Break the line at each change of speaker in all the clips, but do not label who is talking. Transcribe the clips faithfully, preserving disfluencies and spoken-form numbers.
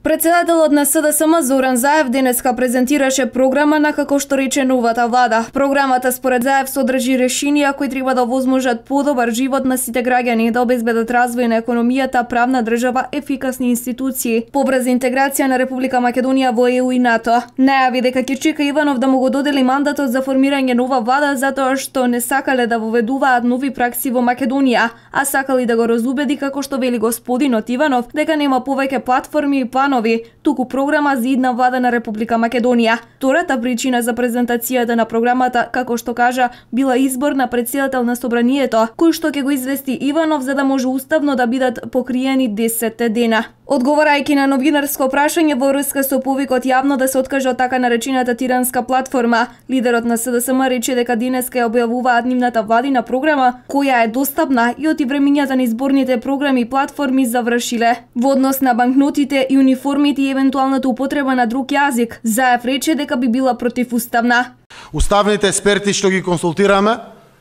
Председателот на С Д С М Зоран Заев денеска презентираше програма на како што рече новата влада. Програмата според Заев содржи решенија кои треба да овозможат подобар живот на сите граѓани, да обезбедат развој на економијата, правна држава, ефикасни институции, побрза интеграција на Република Македонија во Е У и НАТО. Најави дека ќе чека Иванов да му го додели мандатот за формирање нова влада затоа што не сакале да воведуваат нови пракси во Македонија, а сакали да го разубеди, како што вели господинот Иванов, дека нема повеќе платформи и планови, туку програма за идна влада на Република Македонија. Втората причина за презентацијата на програмата, како што кажа, била избор на председател на собранието, кој што ќе го извести Иванов за да може уставно да бидат покриени десет дена. Одговарајќи на новинарско прашање во врска со повикот јавно да се откаже од така наречената тиранска платформа, лидерот на С Д С М рече дека денеска ја објавуваат нивната владина програма, која е достапна и од времењата на изборните програми и платформи завршиле. Во однос на банкнотите и униформите и евентуалната употреба на друг јазик, Заев рече дека би била противуставна.
Уставните експерти што ги консултираме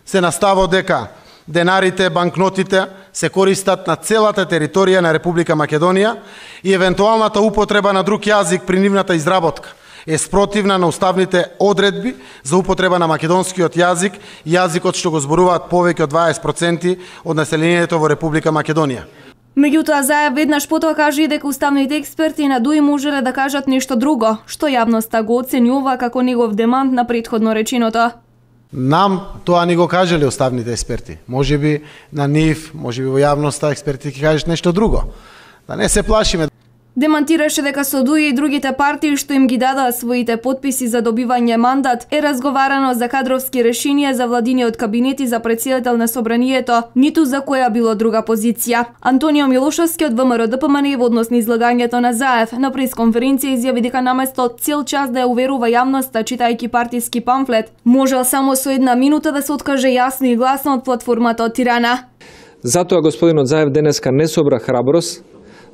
се на ставот дека денарите, банкнотите се користат на целата територија на Република Македонија и евентуалната употреба на друг јазик при нивната изработка е спротивна на уставните одредби за употреба на македонскиот јазик, јазикот што го зборуваат повеќе од дваесет проценти од населението во Република Македонија.
Меѓутоа, Заев веднаш потоа кажа и дека уставните експерти на ДУИ можеле да кажат нешто друго, што јавноста го оценјува како негов демант на претходно реченото.
Нам тоа ни го кажале уставните експерти. Може би на нив, може би во јавноста експерти ќе кажат нешто друго. Да не се плашиме.
Демантираше дека со ДУИ и другите партии што им ги дадоа своите потписи за добивање мандат е разговарано за кадровски решенија за владиниот кабинети за председател на собранието, ниту за која било друга позиција. Антонио Милошовски од В М Р Д П М Н во однос на излагањето на Заев на пресконференција изјави дека наместо цел час да ја уверува јавноста читајќи партиски памфлет, можел само со една минута да се откаже јасно и гласно од платформата од Тирана.
Затоа господинот Заев денеска не собра храброст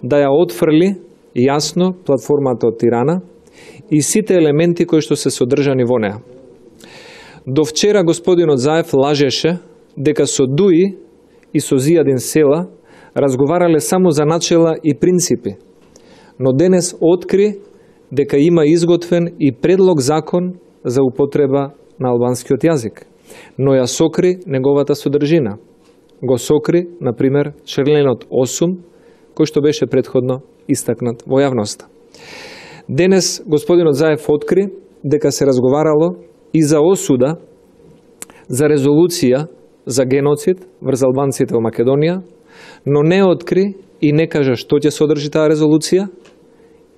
да ја отфрли јасно платформата од Тирана и сите елементи кои што се содржани во неа. До вчера господинот Заев лажеше дека со ДУИ и со Зијадин Села разговарале само за начела и принципи, но денес откри дека има изготвен и предлог закон за употреба на албанскиот јазик, но ја сокри неговата содржина. Го сокри, например, членот осум, кој што беше претходно истакнат во јавноста. Денес господинот Заев откри дека се разговарало и за осуда за резолуција за геноцид врз албанците во Македонија, но не откри и не кажа што ќе содржи таа резолуција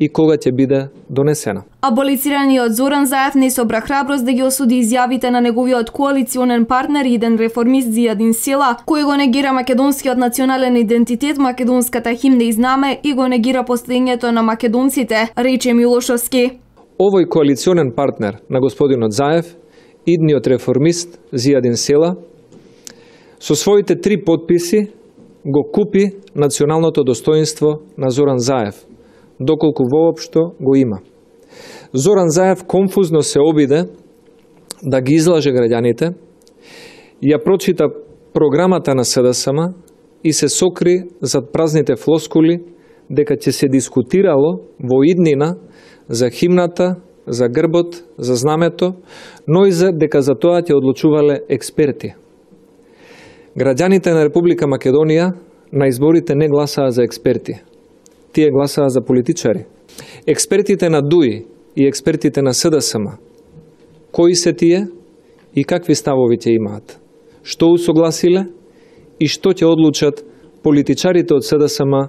и кога ќе биде донесена.
Аболицираниот Зоран Заев не собра храброст да ги осуди изјавите на неговиот коалиционен партнер и иден реформист Зијадин Села, кој го негира македонскиот национален идентитет, македонската химна и знаме и го негира постоењето на македонците, рече Милошовски.
Овој коалиционен партнер на господинот Заев, идниот реформист Зијадин Села, со своите три потписи го купи националното достоинство на Зоран Заев, доколку воопшто го има. Зоран Заев конфузно се обиде да ги излаже граѓаните, ја прочита програмата на С Д С М и се сокри зад празните флоскули дека ќе се дискутирало во иднина за химната, за грбот, за знамето, но и за дека за тоа ќе одлучувале експерти. Граѓаните на Република Македонија на изборите не гласаа за експерти. Тие гласаа за политичари. Експертите на ДУИ и експертите на С Д С М, кои се тие и какви ставови ќе имаат? Што усогласиле и што ќе одлучат политичарите од С Д С М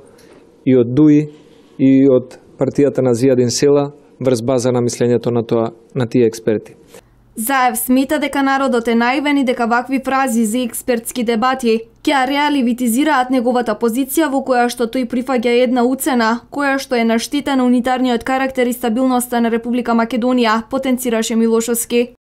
и од ДУИ и од партијата на Зијадин Села врз база на мислењето на тоа на тие експерти.
Заев смета дека народот е наивен и дека вакви фрази за експертски дебати ќе реаливитизираат неговата позиција во која што тој прифаќа една уцена, која што е на штета на унитарниот карактер и стабилноста на Република Македонија, потенцираше Милошовски.